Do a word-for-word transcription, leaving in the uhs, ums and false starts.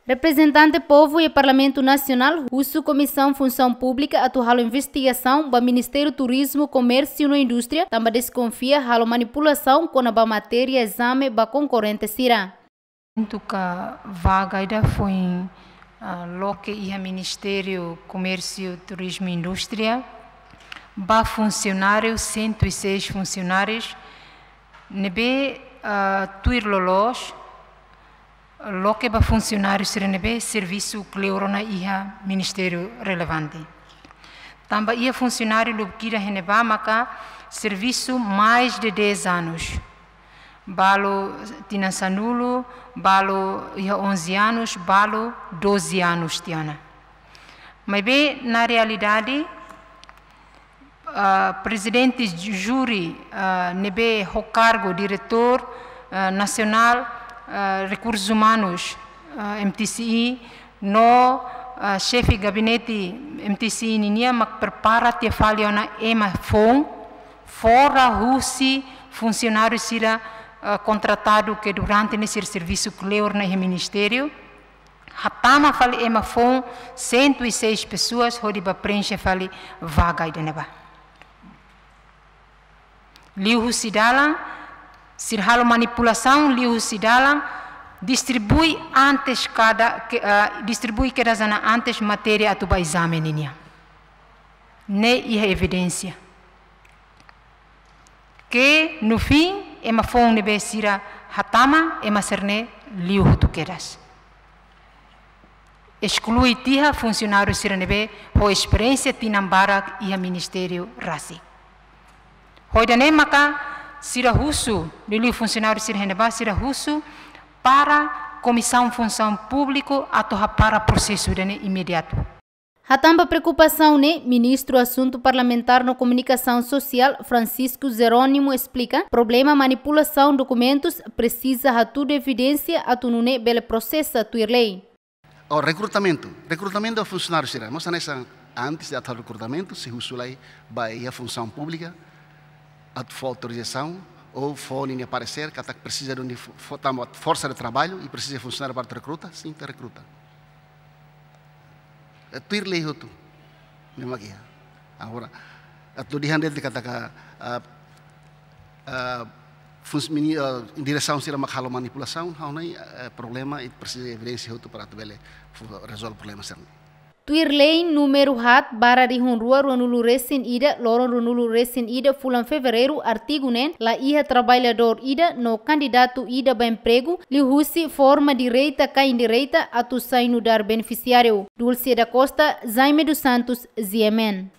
Reprezentante povu iha Parlamentu Nasionál husu Komisaun Funsaun Públika atu halo investigasaun ba Ministériu Turizmu, Komérsiu no Indústria, tanba deskonfia halo manipulasaun kona-ba matéria ezame ba konkorrente sira. Tuir vaga ida foin, ah, loke iha Ministériu Komérsiu, Turizmu i Indústria, ba funsionáriu, cento e seis funcionários, ne'ebé, ah, tuir loloos, loke ba funsionáriu sira ne'ebé servisu kleur ona iha ministériu relevante. Tanba iha funsionáriu lubuk ida iha ne'ebá maka servisu mais de dez anos. Balu tinan sanulu, balu iha onze anos, balu doze anos tiha ona. Maibé na realidade, ah, prezidente júri, ah, ne'ebé ho kargu diretór, ah, nasionál, ah, rekursus umanus, ah, M T C I, no, ah, xefe gabinete M T C I ninian mak prepara tiha fali ona ema foun, fora husi funsionáriu sira, ah, kontratadu ke durante ne'e sira servisu kleur ona iha ministériu. Hatama fali ema foun cento e seis pessoas hodi ba preenxe fali vaga ida ne'ebá. Liuhusi dalan, sira halo manipulasaun, liuhusi dalan, distribui antes kada, ke, ah, distribui kedas ona antes matéria atu ba ezame ninian. Ne'e iha evidénsia. Ke no fim, ema foun ne'ebé sira hatama, ema sira-ne'e liu hotu kedas. Esklui tiha funsionáriu sira ne'ebé ho esperiénsia tinan barak iha ministériu rasik. Ho ida-ne'e maka sira husu, liuliu funsionáriu sira iha ne'ebá sira husu para Komisaun Funsaun Públika atu hapara prosesu ida-ne'e imediatu. Hatán ba preokupasaun ne'e, Ministru Asuntu Parlamentár no Komunikasaun Sosiál, Francisco Jerónimo, esplika, problema manipulasaun dokumentus presiza hatudu evidénsia atu nune'e bele prosesa tuir lei. O rekrutamentu, rekrutamentu ba funsionáriu sira. Mós hanesan antes de atu rekrutamentu, sei husu lai ba iha Funsaun Públika, atu fó autorizasaun ou fó ninia paresér, katak presiza de fo-, fo-, tanba forsa de traballu i presiza funsionáriu para rekruta, sin, ita rekruta. Eh, tuir lei hotu. Ne'e mak iha. Agora, atu dehan de'it katak, ah, ah, funs-, mini-, ah, diresaun sira mak halo manipulasaun, ha'u hanoin, eh, problema i presiza evidénsia hotu para atu bele fu-, rezolve problema sira-ne'e. Tuir lei númeru haat barra rihun rua ruanulu resin ida, loron ruanulu resin ida fulan Fevereiru, artigu neen, la iha traballadór ida no kandidatu ida ba empregu, liuhusi forma direta ka indireta atu sai nu'udar benefisiáriu. Dulce da Costa, Jaime dos Santos, G M N.